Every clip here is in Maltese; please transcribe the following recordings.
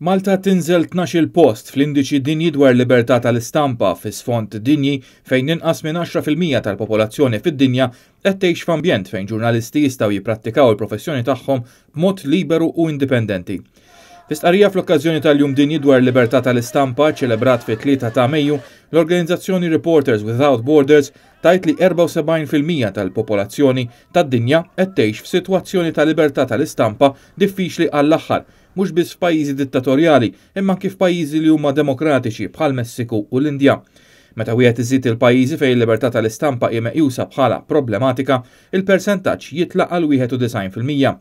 Malta tinżel 12-il post fl-Indiċi Dinji dwar Libertà tal-Istampa fi sfond dinji fejn inqas minn 10% tal-popolazzjoni fid-dinja qed tgħix f'ambjent fejn ġurnalisti jistgħu jipprattikaw il-professjoni tagħhom b'mod liberu u indipendenti. Fi stqarrija fl-okkażjoni tal-Jum Dinji dwar Libertà tal-Istampa ċelebrat fit-3 ta' Mejju, l-organizzazzjoni Reporters Without Borders tgħid li 74% tal-popolazzjoni tad-dinja qed tgħix f'sitwazzjoni ta' libertà tal-istampa diffiċli għall-aħħar, mhux biss f'pajjiżi dittatorjali imma anki f'pajjiżi li huma demokratiċi bħall-Messiku u l-Indja. Meta wieħed iżid il-pajjiżi fejn il-libertà tal-istampa hi meqjusa bħala problematika, il-persentaġġ jitla' għal 91%.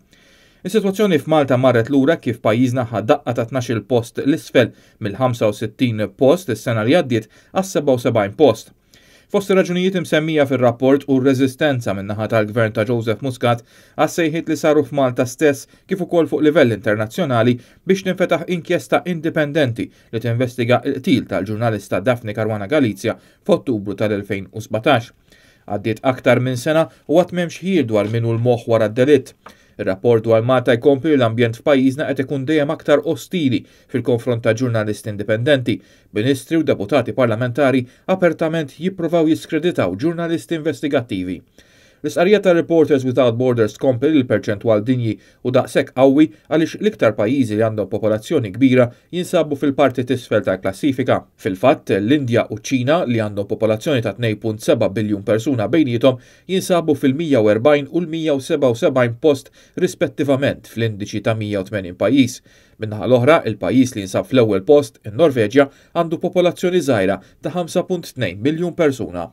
Is-sitwazzjoni f'Malta marret lura kif pajjiżna ħa daqqa ta' 12-il post 'l isfel mill-65 post is-sena li għaddiet għas-77 post. Fost ir-raġunijiet imsemmija fir-rapport hu r-reżistenza min-naħa tal-Gvern ta' Joseph Muscat għas-sejħiet li saru f'Malta stess kif ukoll fuq livell internazzjonali biex tinfetaħ inkjesta indipendenti li tinvestiga l-qtil tal-ġurnalista Daphne Caruana Galizia f'Ottubru tal-2017. Għaddiet aktar minn sena u għad m'hemmx ħjiel dwar min hu l-moħħ wara d-delitt. Ir-rapport dwar Malta jkompli li l-ambjent f'pajjiżna qed ikun dejjem aktar ostili fil-konfront ta' ġurnalisti indipendenti, b'ministri u deputati parlamentari apertament jippruvaw jiskreditaw ġurnalisti investigattivi. L-istqarrija ta' Reporters Without Borders tkompli li l-perċentwal dinji hu daqshekk qawwi għaliex l-iktar pajjiżi li għandhom popolazzjoni kbira jinsabu fil-parti t'isfel tal-klassifika. Fil-fatt, l-Indja u ċ-Ċina, li għandhom popolazzjoni ta' 2.7 biljun persuna bejniethom, jinsabu fil-140 u l-177 post rispettivament fl-indiċi ta' 180 pajjiż. Min-naħa l-oħra, il-pajjiż li jinsab fl-ewwel post, in-Norveġja, għandu popolazzjoni żgħira ta' 5.2 miljun persuna.